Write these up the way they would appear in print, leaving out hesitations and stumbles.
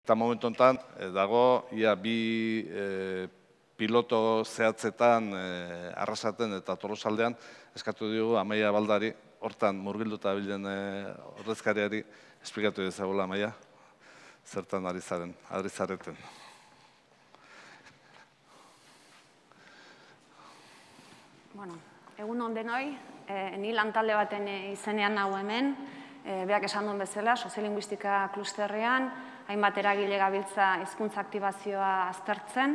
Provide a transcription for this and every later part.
Eta momentu honetan, dago, ia bi piloto zehatzetan Arrasaten eta Tolosaldean eskatu diogu Amaia Baldari, hortan murgilduta bilen ordezkariari, esplikatu dezagula, Amaia, zertan ari zareten. Bueno, egun on denoi, ni lantalde baten izenean hau hemen, berak esan duen bezala, soziolinguistika klusterrean, hainbat eragile gabiltza hizkuntza aktibazioa aztertzen,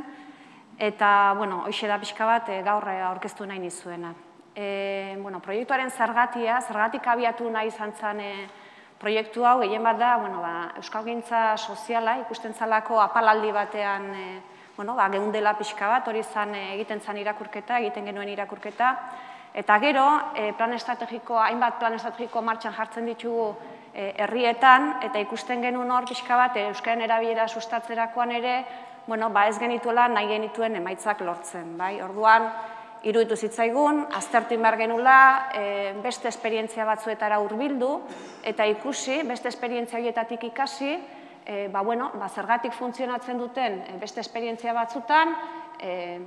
eta, bueno, hoxe da pixka bat gaur aurkeztu nahi nizuena. Proiektuaren zergatik abiatu nahi izan zen proiektu hau, gehien bat da, euskalgintza soziala, ikusten zalako apalaldi batean, geundela pixka bat, hori egiten zen irakurketa, egiten genuen irakurketa, eta gero, hainbat plan estrategiko martxan jartzen ditugu herrietan, eta ikusten genuen hor pixka bat, euskararen erabilera sustatzerakoan ere, ez genituela nahi genituen emaitzak lortzen. Orduan, iruditu zitzaigun, aztertu behar genuela, beste esperientzia batzuetara hurbildu, eta ikusi, beste esperientzia horietatik ikasi, zergatik funtzionatzen duten beste esperientzia batzutan,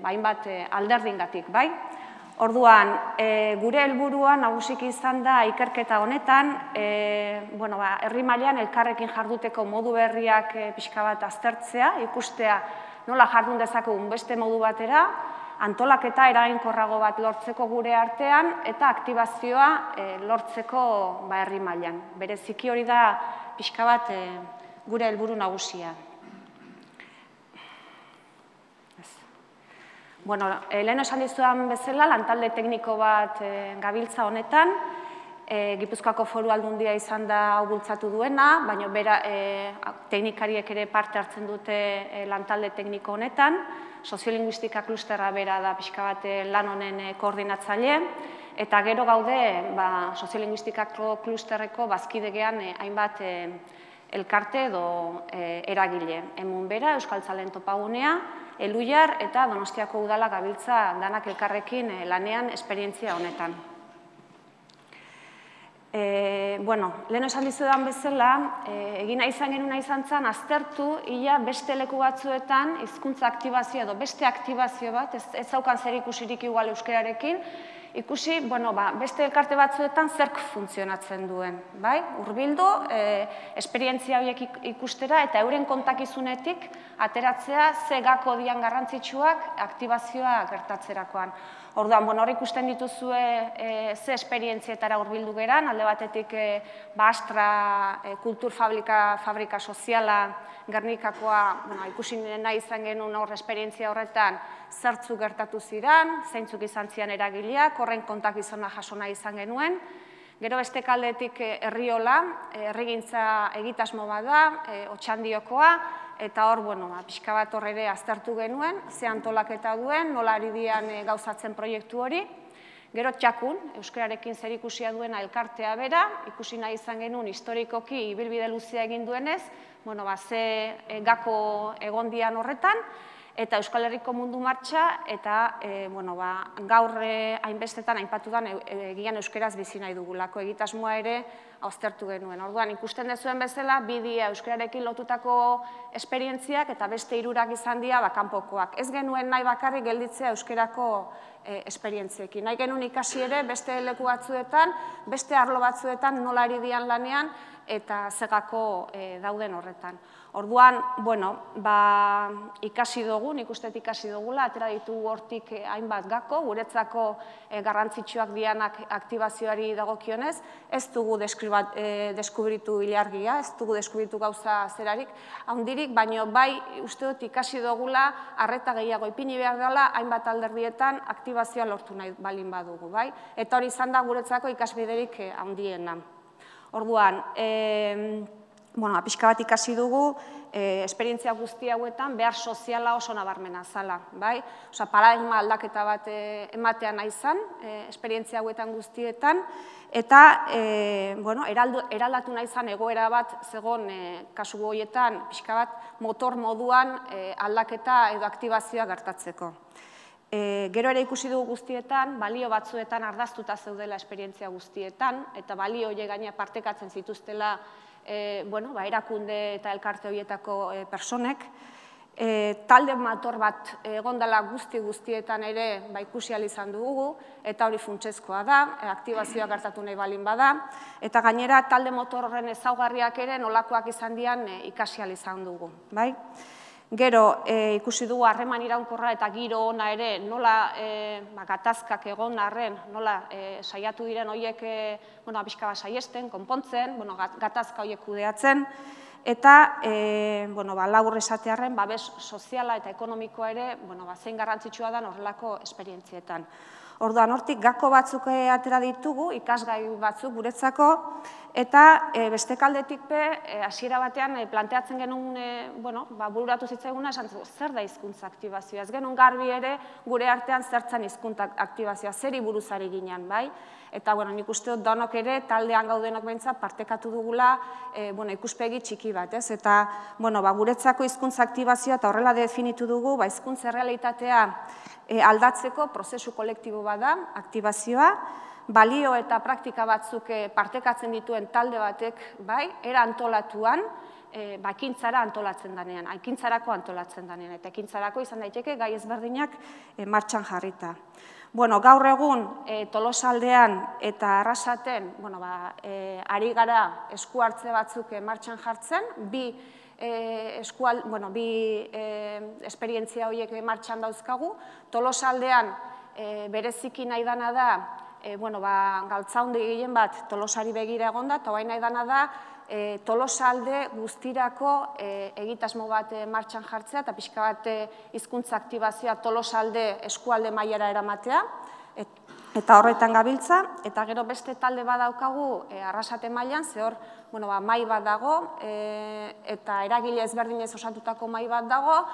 hainbat alderdingatik, bai? Orduan, gure helburua nagusiki izan da ikerketa honetan, herri mailan elkarrekin jarduteko modu berriak pixka bat aztertzea, ikustea nola jardun dezakegun beste modu batera, antolaketa eraginkorrago bat lortzeko gure artean, eta aktibazioa lortzeko herri mailan. Bereziki hori da pixka bat gure helburu nagusia. Lehen esan dizudan bezala, lantalde tekniko bat gabiltza honetan, Gipuzkoako Foru Aldundia izan da hau bultzatu duena, baina teknikariek ere parte hartzen dute lantalde tekniko honetan, soziolinguistika klusterra bera da pixka bat lan honen koordinatzaile, eta gero gaude soziolinguistikako klusterreko bazkidegean hainbat elkarte edo eragile. Hemen bera, Euskaltzaleen Topagunea, Eluiar eta Donostiako Udala gabiltza danak elkarrekin lanean esperientzia honetan. Lehen esan dizudan bezala, egin izan genuen izan zen, aztertu, ia beste leku batzuetan, hizkuntza aktibazio edo beste aktibazio bat, ez zaukan zer ikusirik igual euskerarekin, ikusi, beste elkarte batzuetan zerk funtzionatzen duen, bai? Hurbildu, esperientzia horiek ikustera eta euren kontakizunetik ateratzea ze gako dian garrantzitsuak aktibazioa gertatzerakoan. Orduan, hor ikusten dituzue ze esperientzietara hurbildu geran, alde batetik Astra kulturfabrika soziala Gernikakoa ikusi nahi izan genuen hor esperientzia horretan zertzuk gertatu ziren, zeintzuk izan ziren eragileak, horren kontakizuna jaso nahi izan genuen. Gero beste aldetik Herriola, herrigintza egitasmo bat da, Otxandiokoa, eta hor, pixka bat hor ere aztertu genuen, ze antolaketa duen, nola ari dian gauzatzen proiektu hori. Gero Txakun, euskararekin zer ikusia duena elkartea bera, ikusi nahi izan genuen historikoki ibilbide luzea egin duenez, ze gako egon dian horretan, eta Euskal Herriko Mundu Martxa, eta gaur hainbestetan hainpatudan egian euskeraz bizi nahi dugulako, egitasmoa ere aztertu genuen. Orduan, ikusten dezuen bezala, bidia euskararekin lotutako esperientziak eta beste hirurak izan dira kanpokoak. Ez genuen nahi bakarrik gelditzea euskerako esperientziekin. Nahi genuen ikasi ere beste leku batzuetan, beste arlo batzuetan nola ari dian lanean eta zegako dauden horretan. Orduan, ikasi dugu, nik uste ikasi dugula, atera ditugu hortik hainbat gako, guretzako garrantzitsuak dianak aktibazioari dagokionez, ez dugu deskubritu ilargia, ez dugu deskubritu gauza zerarik handirik, baina bai uste dut ikasi dugula arreta gehiago ipini behar dela hainbat alderdietan aktibazioa lortu nahi balin badugu, bai? Eta hori izan da guretzako ikasbiderik handiena. Orduan, pixka bat ikasi dugu, esperientzia guzti hauetan behar soziala oso nabarmena zala, bai? Osa, paradigma aldaketa bat ematea nahi zan, esperientzia hauetan guztietan, eta, eraldatu nahi zan egoera bat zegoen kasu horietan, pixka bat motor moduan aldaketa edo aktibazioa gertatzeko. Gero ere ikusi dugu guztietan, balio batzuetan ardaztuta zeudela esperientzia guztietan, eta balio horiek gaina partekatzen zituztela erakunde eta elkarte horietako personek. Talde motor bat egondala guztietan ere ikusi ahal izan dugu, eta hori funtsezkoa da, aktibazioa gertatu nahi balin bada, eta gainera talde motor horren ezaugarriak ere nolakoak izan dian ikasi ahal izan dugu. Gero, ikusi dugu harreman iraunkorra eta giro ona ere nola gatazkak egon arren, nola saiatu diren horiek pixka bat saiesten, konpontzen, gatazka horiek kudeatzen, eta labur esatearren babes soziala eta ekonomikoa ere zein garrantzitsua da horrelako esperientzietan. Orduan, hortik gako batzuk atera ditugu, ikasgai batzuk guretzako, eta beste aldetik hasiera batean planteatzen genuen, bururatu zitzaiguna, esan zer da hizkuntza aktibazioa. Ez genuen garbi ere gure artean zertzen hizkuntza aktibazioa, zeri buruzari ginen, bai? Eta nik uste dut donok ere, taldean gaudenok behintzat, partekatu dugula ikuspegi txiki bat, ez? Eta guretzako hizkuntza aktibazioa eta horrela definitu dugu, hizkuntza errealitatea aldatzeko prozesu kolektibo bat da, aktibazioa, balio eta praktika batzuk partekatzen dituen talde batek, era antolatuan, ekintzara antolatzen denean, ekintzarako antolatzen denean, eta ekintzarako izan daiteke gai ezberdinak martxan jarrita. Gaur egun Tolosaldean eta Arrasaten ari gara esku hartze batzuk martxan jartzen, bi esperientzia horiek martxan dauzkagu. Tolosaldean bereziki nahi dana da, galtzaundi gehien bat Tolosari begira egonda, eta nahi dana da Tolosalde guztirako egitasmo bat martxan jartzea, eta pixka bat hizkuntza aktibazioa Tolosalde eskualde mailara eramatea, eta horretan gabiltza, eta gero beste talde bat daukagu Arrasate mailan, ze hor mai bat dago, eta eragile ezberdinez osatutako mai bat dago,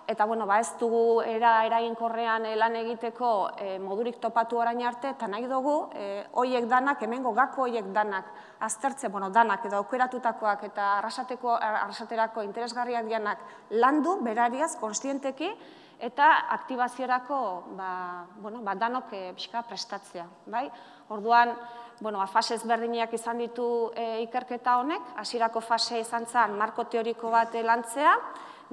eta ez dugu eraginkorrean lan egiteko modurik topatu orain arte, eta nahi dugu horiek danak, hemengo gako horiek danak, aztertze, danak edo aukeratutakoak eta arrasaterako interesgarriak dianak landu, berariaz, konstienteki, eta aktibaziorako danok pixka prestatzea. Orduan, fase ezberdinak izan ditu ikerketa honek, hasierako fase izan zen marko teoriko bat lantzea,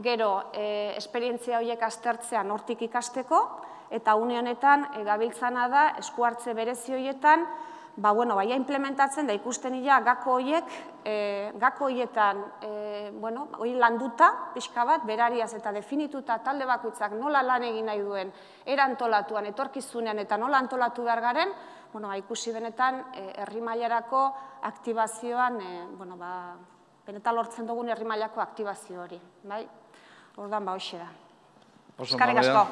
gero esperientzia horiek aztertzean hortik ikasteko, eta une honetan gabiltzana da esku hartze berezi horietan, implementatzen da ikusten ila gako horietan hori landuta, pixka bat, berariaz eta definituta talde bakoitzak nola lan egin nahi duen, era antolatuan, etorkizunean eta nola antolatu behar garen, ikusi benetan herri mailarako aktibazioan, benetan lortzen dugun herri mailako aktibazio hori. Orduan, hoxe da. Eskerrik asko.